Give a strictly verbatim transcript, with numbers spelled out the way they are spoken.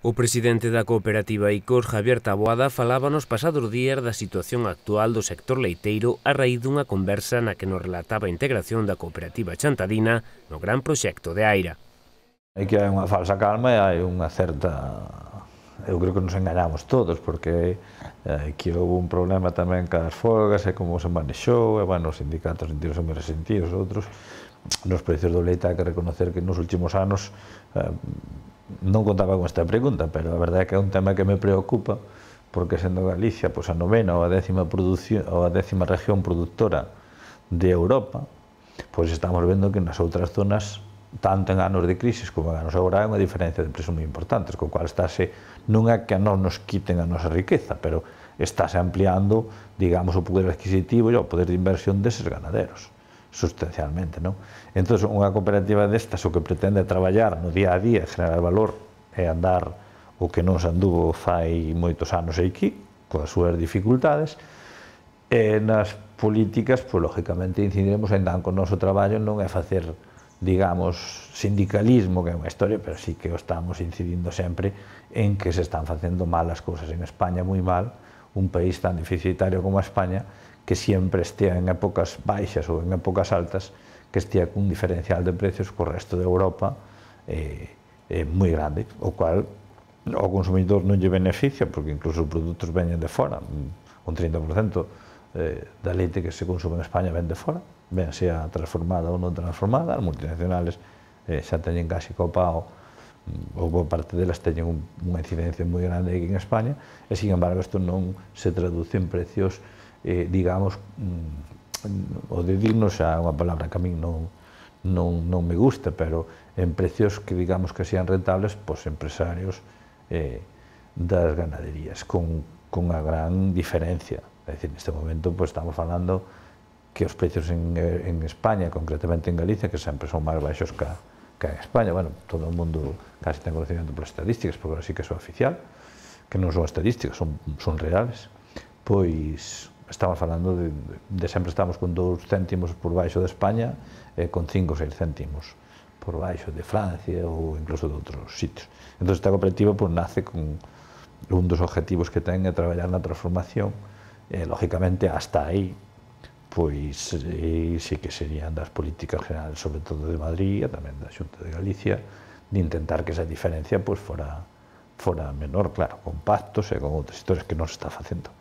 O presidente da cooperativa Icos, Javier Taboada, falaba nos pasados días da situación actual do sector leiteiro a raíz dunha conversa na que nos relataba a integración da cooperativa chantadina no gran proxecto de Aira. Hai que hai unha falsa calma e hai unha certa... Eu creo que nos engañamos todos, porque aquí houve un problema tamén cas folgas e como se manexou, e, bueno, os sindicatos sentidos moi resentidos, outros. Nos precios do leite hai que reconocer que nos últimos anos eh, non contaba con esta pregunta, pero a verdade é que é un tema que me preocupa, porque sendo Galicia pois, a novena ou a décima, ou a décima región productora de Europa, pois estamos vendo que nas outras zonas, tanto en anos de crisis como en anos agora, hai unha diferencia de preços moi importantes, co cual estáse, non é que non nos quiten a nosa riqueza, pero estáse ampliando, digamos, o poder adquisitivo e o poder de inversión deses ganaderos, sustancialmente, non? Entón, unha cooperativa destas o que pretende é traballar no día a día, generar valor e andar o que non se anduvo fai moitos anos aquí, coas súas dificultades, e nas políticas, pois, lógicamente, incidiremos ainda que o noso traballo non é facer, digamos, sindicalismo, que é unha historia, pero sí que o estamos incidindo sempre en que se están facendo mal as cousas en España, moi mal, un país tan deficitario como a España, que sempre estea en épocas baixas ou en épocas altas, que estea cun diferencial de precios co resto de Europa eh, eh, moi grande, o cual ao consumidor non lle beneficia, porque incluso os produtos veñen de fora, un trinta por cento eh, da leite que se consume en España ven de fora, ben sea transformada ou non transformada, as multinacionales eh, xa teñen casi copao, ou boa parte delas teñen un, unha incidencia moi grande aquí en España, e, sin embargo, isto non se traduce en precios Eh, digamos, mm, o de dignos xa é unha palabra que a min non, non, non me gusta, pero en precios que, digamos, que sean rentables pos empresarios eh, das ganaderías, con, con unha gran diferencia. É dicir, neste momento pues, estamos falando que os precios en, en España, concretamente en Galicia, que sempre son máis baixos que, que en España, bueno, todo o mundo casi ten conocimiento polas estadísticas, porque ahora sí que son oficial, que non son estadísticas, son, son reales, pois estamos falando de, de sempre estamos con dous céntimos por baixo de España e con cinco ou seis céntimos por baixo de Francia ou incluso de outros sitios. Entón, esta cooperativa pues, nace con un dos objetivos que ten é traballar na transformación e, lógicamente, hasta aí pois eh, sí que serían das políticas generales, sobre todo de Madrid e tamén da Xunta de Galicia, de intentar que esa diferencia pues, fora, fora menor, claro, con pactos e con outras historias que non se está facendo.